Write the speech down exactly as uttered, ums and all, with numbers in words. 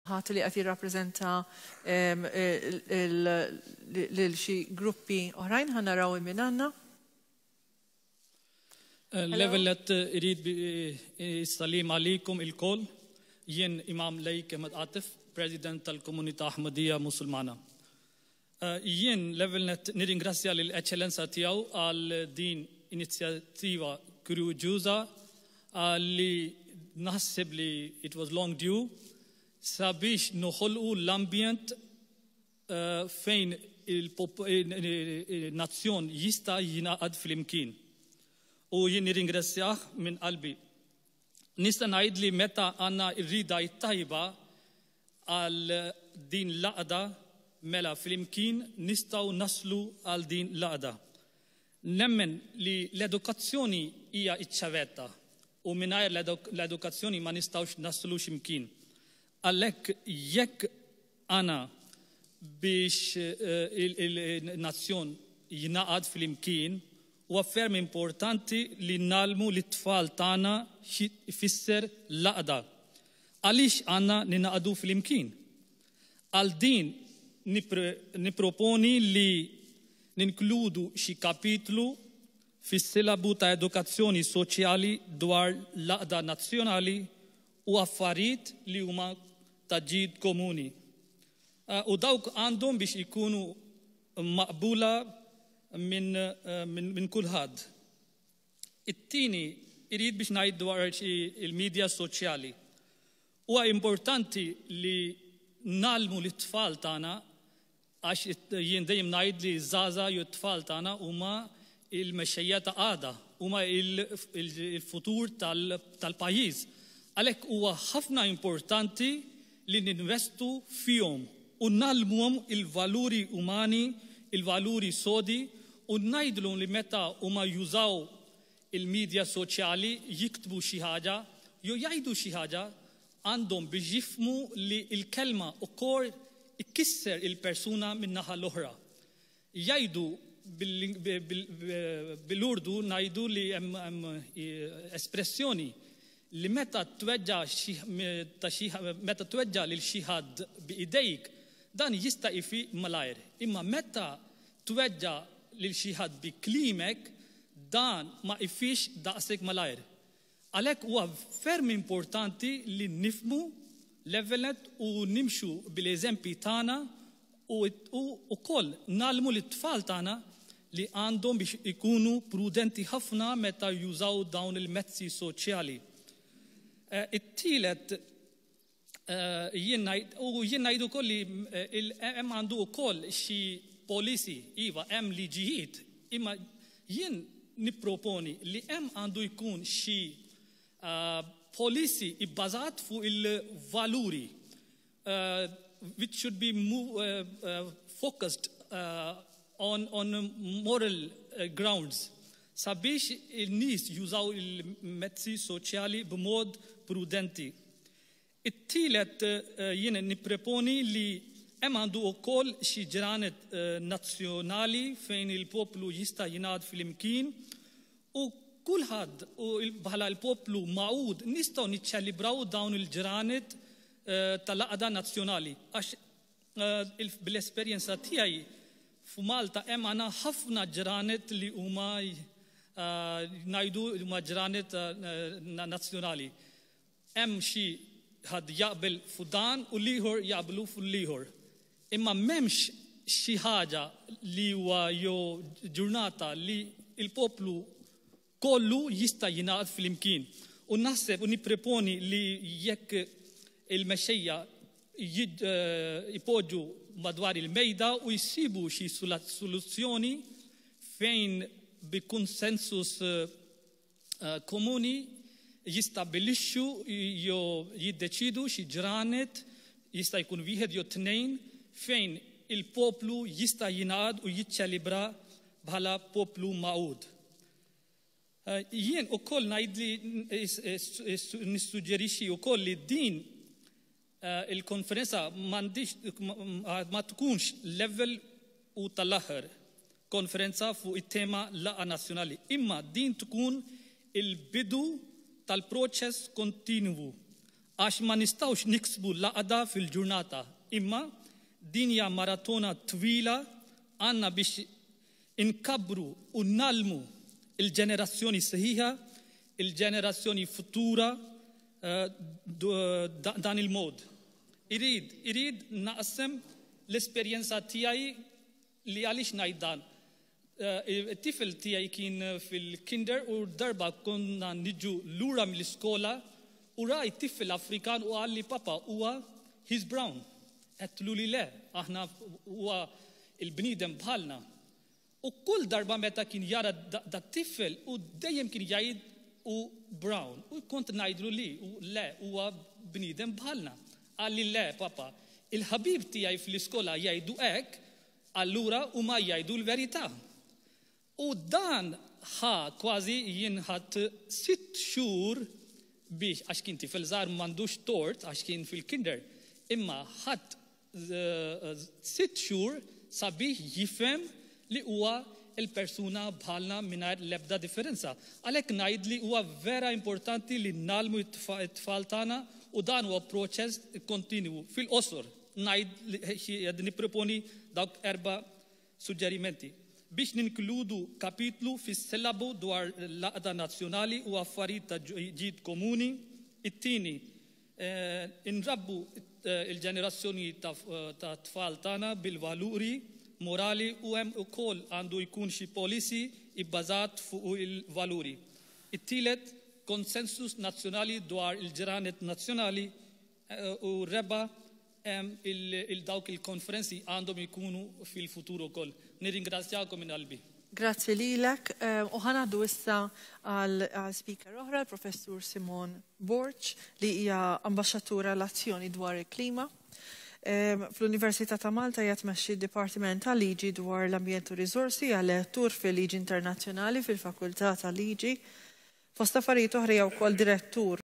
Ħadd li qed jirrappreżenta lil xi gruppi oħrajn, ħa naraw min għandna. L-ewwel nett irrid insellem għalikom ilkoll. Jien Imam Laiq Ahmed Atif, President tal-Komunità Ahmadiyya Musulmana. Jien l-ewwel nett nirringrazzja lill-Eċċellenza tiegħu għal din inizjattiva kurjuża li naħseb li it was long due sabiex noħolqu l-ambjent fejn il-nazzjon jista' jingħaqad flimkien. U jien nirringrazzjah minn qalbi. Nista' ngħid li meta għandna r-rida tajba għal din l-għaqda, mela flimkien nistgħu naslu għal din l-għaqda. Nemmen li l-edukazzjoni hija iċ-ċavetta u mingħajr l-edukazzjoni ma nistgħux naslu x'imkien. Għalhekk jekk għandna biex il-nazzjon jingħaqad flimkien, huwa ferm importanti li ngħallmu lit-tfal tagħna xi jfisser l-għaqda. Għaliex għandna ningħaqdu flimkien? Għal din niproponi li ninkludu xi kapitlu fis-silabu ta' edukazzjoni soċjali dwar l-għaqda nazzjonali u affarijiet li huma ta' ġid komuni. U dawk għandhom biex ikunu maqbula minn min, min kulħadd. It-tieni irid biex ngħid dwar il-medja soċjali. Huwa importanti li ngħallmu lit-tfal tagħna, għax jien dejjem ngħid li żgħażagħ jew t-tfal tagħna huma il-mexxejja ta' għada, huma il-futur tal-pajjiż. Għalhekk huwa ħafna importanti li ninvestu fihom u ngħallmuhom il-valuri umani, il-valuri sodi, u ngħidlhom li meta huma jużaw il-medja soċjali jiktbu xi ħaġa jew jgħidu xi ħaġa, għandhom biex jifhmu li l-kelma ukoll ikisser il-persuna min-naħa l-oħra. Jgħidu bil-Urdu, ngħidu li hemm espressjoni li meta tweġġa meta tweġġa lil xi ħadd b'idejk, dan jista' jfiq malajr. Imma meta tweġġa lil xi ħadd bi kliemek, dan ma jfiqx daqshekk malajr. Għalhekk huwa ferm importanti li nifhmu l-ewwel nett u nimxu bil-eżempji tagħna u wkoll ngħallmu lit-tfal tagħna li għandhom biex ikunu prudenti ħafna meta jużaw dawn il-mezzi soċjali. It-tielet, jien u jien ngħidu wkoll li hemm għandu wkoll xi policy, iva, hemm liġijiet, imma jien nipproponi li hemm għandu jkun xi policy ibbażat fuq il-valuri, which should be move, uh, uh, focused uh, on, on moral uh, grounds, sabiex il-nies jużaw il-mezzi soċjali b'mod prudenti. It-tielet, jien nipproponi li hemm għandu wkoll xi ġranet nazzjonali fejn il-poplu jista' jingħaqad flimkien u kulħadd u bħala l-poplu magħqud nistgħu niċċelebraw dawn il-ġranet tal-għaqda nazzjonali. Għax bl-esperjenza tiegħi f'Malta hemm għandna ħafna ġranet li huma ngħidu huma ġranet nazzjonali. Hemm xi ħadd jaqbel fuq dan u l-ieħor jaqblu fuq l-ieħor. Imma m'hemmx xi ħaġa li huwa jew ġurnata li il-poplu kollu jista' jingħaqad flimkien. U naħseb u nipproponi li jekk il-mexxejja ipoġġu madwar il-mejda u jsibu xi soluzzjoni fejn bi konsensus komuni jistabilixxu jew jiddeċidu xi ġranet, jista' jkun wieħed jew tnejn, fejn il-poplu jista' jingħaqad u jiċċelebra bħala poplu magħqud. Jien ukoll ngħid li nissuġġerixxi wkoll li din il-konferenza m'għandix ma tkunx l-ewwel u tal-aħħar konferenza fuq it-tema laqgħa nazzjonali, imma din tkun il-bidu tal-proċess kontinwu. Għax ma nistgħux niksbu l-għaqda fil-ġurnata, imma din hija maratona twila. Għandna biex inkabbru u ngħallmu il-ġenerazzjoni sħiħa, il-ġenerazzjoni futura eh, dan il-mod. Irid, irid naqsem l-esperjenza tiegħi li għaliex ngħid dan. Eh, it-tifel tiegħi kien fil-kinder u darba konna niġu lura mill-iskola u rajt tifel Afrikan u qalli, "Papa, huwa, he's brown." Għedtlu li le, aħna huwa il-bniedem bħalna. U kull darba meta kien jara dat tifel u dejjem kien jgħid u brown. U kont ngħidlu li u le, huwa bniedem bħalna. Qalli, "Le, papa, il-ħabib tiegħi fl-iskola jgħidu hekk, allura huma jgħidu l-verità." U dan ħa kważi jinħat sitt xhur biex, għax kien tifel żgħar, m'għandux tort għax kien fil-kinder, imma ħadd eh, sitt xhur sabiex jifhem li huwa il-persuna bħalna mingħajr l-ebda differenza. Għalhekk ngħid li huwa vera importanti li ngħallmu it-tfal tagħna u dan huwa proċess kontinwu. Fil-qosor ngħid li qed nipproponi dawk erba' suġġerimenti. Biex ninkludu kapitlu fis-sillabu dwar l-għaqda nazzjonali u affarijiet ta' ġid komuni. It-tieni, eh, inrabbu eh, il-ġenerazzjoni ta' tfal tagħna bil-valuri morali u hemm ukoll għandu jkun xi policy ibbażat fuq il-valuri. It-tielet, konsensus nazzjonali dwar il-ġranet nazzjonali eh, u raba', il-dawk il-konferenzi għandhom ikunu fil-futur ukoll. Nirringrazzjakom minn qalbi. Grazzi lilek. Eh, u ħa ngħaddu issa għal speaker oħra, il-Professur Simone Borg, li hija ambaxxatura l-azzjoni dwar il-klima. Fl-Università ta' Malta hija tmexxi d-Dipartiment ta' Liġi dwar l-Ambjent u Riżorsi, hija lettur fil-Liġi Internazzjonali fil-Fakultà ta' Liġi. Fost affarijiet oħra hija wkoll direttur